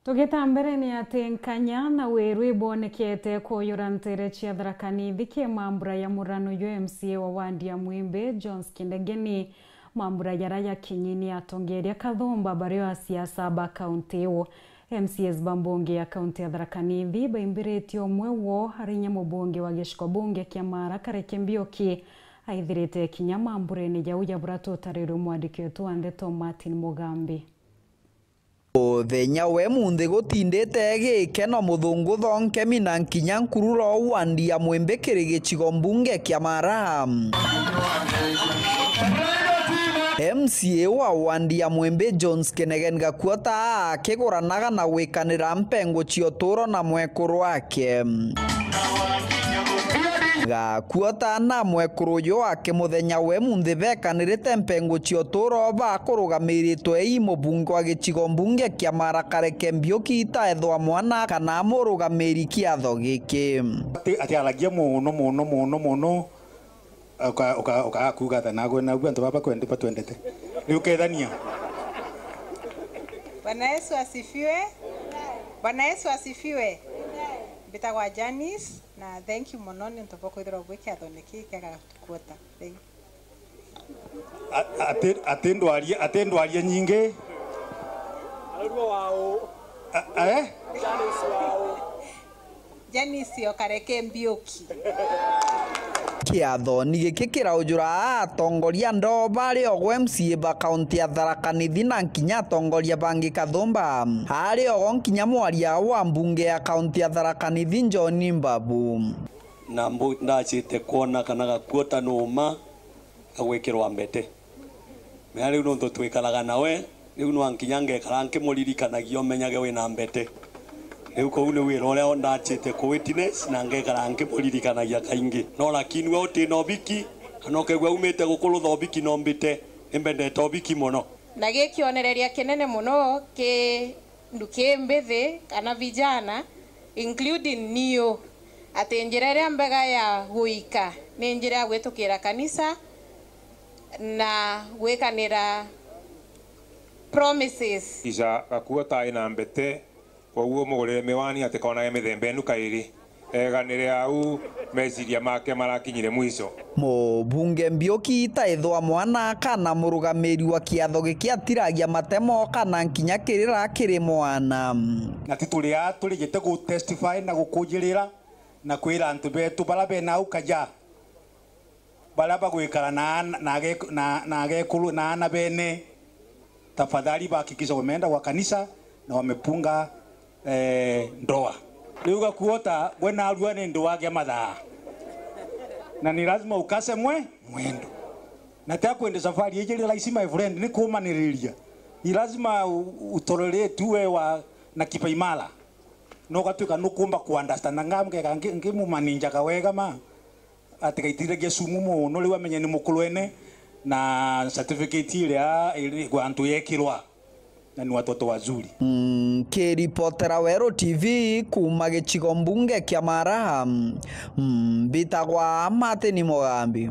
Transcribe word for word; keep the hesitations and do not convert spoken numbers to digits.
Tugita mbere ni ati nkanya na wiru ibonekete kuyura ntere cia Tharaka Nithi ki mambura ya murano jwa M C A wa wandi ya Mwimbi, Jones Kindegeni. Mambura jara jakinyi ni atongeria kathumba bario a siasa ba kaunti iu. M C As ba mbunge ya kaunti ya Tharaka Nithi baimbiritie umwe woo ari inya mubunge wa gicigo bunge kia Mara Kareke Mbiuki aithirite kinya mamburene jau ja bura tutarirwe mwandiki wetu wa ndeto Martin Mugambi. Muthenya we munthi gutindite gikeno muthungu thonkemi na nkinya nkururo wandi ya Mwimbi kiri gicigo mbunge kia Mara. M C A wa wandi ya Mwimbi Jones Kinegen Gakuota akiguranaga na gwikanira mpengo cia uturo na mwekuru wake. Gakuota na mwekuru uyu wake muthenya we munthi bekanirite mpengo cia uturo bakurugamiritwe i mubunge wa gicigo mbunge kia Mara Kareke Mbiuki itaethwa mwana kana murugamiri kiatho giki. Ati, ati aragia muno, muno, muno, muno. Uka-, uka-, ukaga kuuga ata nagwe, nagwe antu baba kwendi batwendete. Riu kethania. Bwana Yesu asifiwe. Bwana Yesu asifiwe. Mbitagwa Janice, na thank you mono ni untu bwa kwithirwa bwi kiathone kii kia Gakuota. Thank you. A-, ati, ati ndwarie, ati ndwarie nyingi. A-, eh? Janice o Kareke Mbiuki. Kiathoni giki kiraujura atongoria ndoo bari ogo M C A ba kaunti ya Tharaka Nithi na nkinya atongoria bangi kathumba. Ari ogo nkinya mwaria wa mbunge ya kaunti ya Tharaka Nithi John Mbabu. Na mbu-, ndacite kwona kana Gakuota numa agwikirwa mbete. Menya riu nontu twikaraga nawe, riu nwa nkinya ngekara nkimuririkanagia umenyage wina mbete. Riu kuu ni wira uria ndachite ku witness na ngekara nkimuririkanagia kaingi. No lakini we utina ubiki, kana ukegua umite gukurutha ubiki no mbite, nimbendete ubiki mono. Na gikionereria kinene mono ki nduki mbithi kana vijana, including niu, ati njira iria mbega ya guika ni njira ya gwitukira kanisa na gwikanira promises. Ica Gakuota ina mbete, kwoguo mugurire miwani atikonage mithemba inu kairi. Eganire au, meciria make marakinyire mwico. Mubunge Mbiuki itaithwa mwana kana murugamiri wa kiatho giki atiragia matemo kana nkinya kirira kiri mwana. Na ti turi aa turijite gu testify na gukujirira na kwira antu betu bara bena au kaja, bara bagwikara na ana, na age-, na, na agekuru na ana bene, tafadhali bahakikisha wameenda kwa kanisa na wamepunga, eh, ndoa. Riu Gakuota, gwe narua ni ndoa gia mathaa. Na ni lazima ukase mwe-, mwendo. Na tia kwende safari iji ni rahisi, my friend, ni kumaniriria. Ni lazima u-, utolerate uwe wa, na kipaimara. No ugatuika nukumba ku understand. Nga-, ngeka ngi-, ngimumaninjaga wega ma. Atigaitiragia sumu mono, riu amenye ni mukurwene na certificate iria iri antu yekirwa na ni watoto wazuri. Nkiripotera Weru T V kuuma gicigo mbunge kia Mara, mbitagwa Martin Mugambi.